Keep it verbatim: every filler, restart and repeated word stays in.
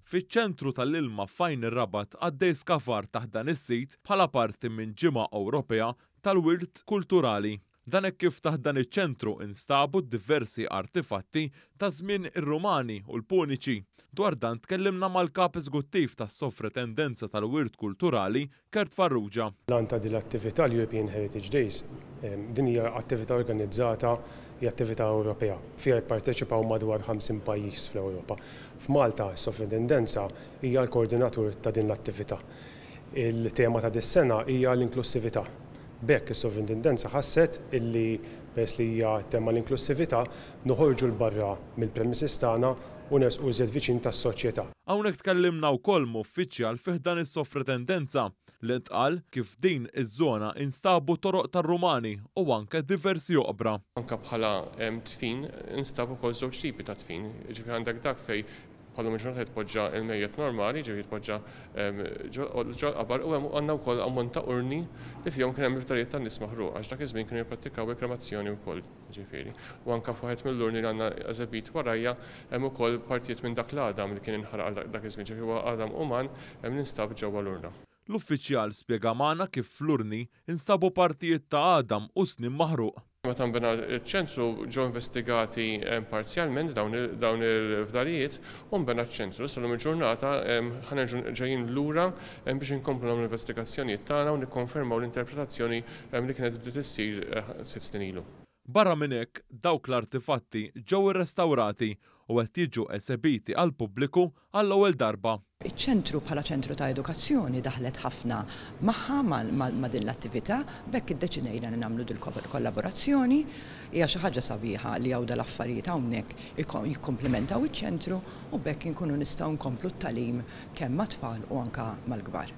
Fiċ-ċentru tal-ilma f'Għajn ir-Rabat għaddej skavar taħt dan is-sit bħala parti minn Ġimgħa Ewropea tal-Wirt Kulturali. Dan hekk kif taħt dan iċ-ċentru instabu diversi artifatti ta' żmien ir-Rumani u l-Puniċi. Dwar dan tkellimna mal-kap eżekuttiv tas-Sovrintendenza tal-Wirt Kulturali, Kurt Farrugia. L-għan ta' din l-attività, l-European Heritage Days, din hija attività organizzata, hija attività Ewropea. Fiha jipparteċipaw madwar ħamsin pajjiż fl-Ewropa. F'Malta, s-Sovrintendenza hija l-koordinatur ta' din l-attività. Il-tema ta' dis-sena hija l-inklussività. B'hekk is-Sovrintendenza ħasset illi, peress li hija tema l-inklussività, noħorġu 'l barra mill-premises tagħna u nersqu iżjed viċin tas-soċjetà. Hawnhekk tkellimna wkoll uffiċjal fih dan is-Sovrintendenza li ntqal kif din iż-żona instabu toroq tar-Rumani u anke diversi oqbra. Anka bħala dfin instabu wkoll żewġ tipi ta' dfin, ġifieri għandek dak fej bħalma ġurnata jitpoġġa il-mejjet normali, ġifieri jitpoġġa ġol-qabar, u hemm għandna wkoll ammont ta' urni li fihom kien hemm il-fdalijiet tan-nies maħruq, għax dak iż-żmien kienu jipprattikaw il-kremazzjoni wkoll, ġifieri. U anke f'waħed mill-urni li għandna eżebit warajja hemm ukoll partijiet minn dak l-għadam li kien inħaraq dak iż-żmien, ġifieri huwa għadam uman hemm ninstab ġewwa l-urna. L-uffiċjal spjega magħna kif fl-urni instabu partijiet ta' għadam u snien maħruq. Meta nbena ċ-ċentru ġew investigati parzjalment dawn il-fdalijiet u nbena ċ-ċentru. Issa llum il-ġurnata ħa nerġgħu ġejjin lura biex inkomplu nagħmlu investigazzjonijiet tagħna u nikkonfermaw l-interpretazzjoni li kienet bdiet issir sitt snin ilu. Barra minn hekk, dawk l-artifatti ġew irrestawrati u qed jiġu esebiti għal pubbliku għall-ewwel darba. Iċ-ċentru bħala ċentru ta' edukazzjoni daħlet ħafna magħha ma' din l-attività, b'hekk iddeċidejna li nagħmlu dil kollaborazzjoni. Hija xi ħaġa sabiħa li hawn dal-affarijiet hawnhekk jikkomplementaw iċ-ċentru u b'hekk inkunu nistgħu nkomplu t-tagħlim kemm mat-tfal u anka mal-kbar.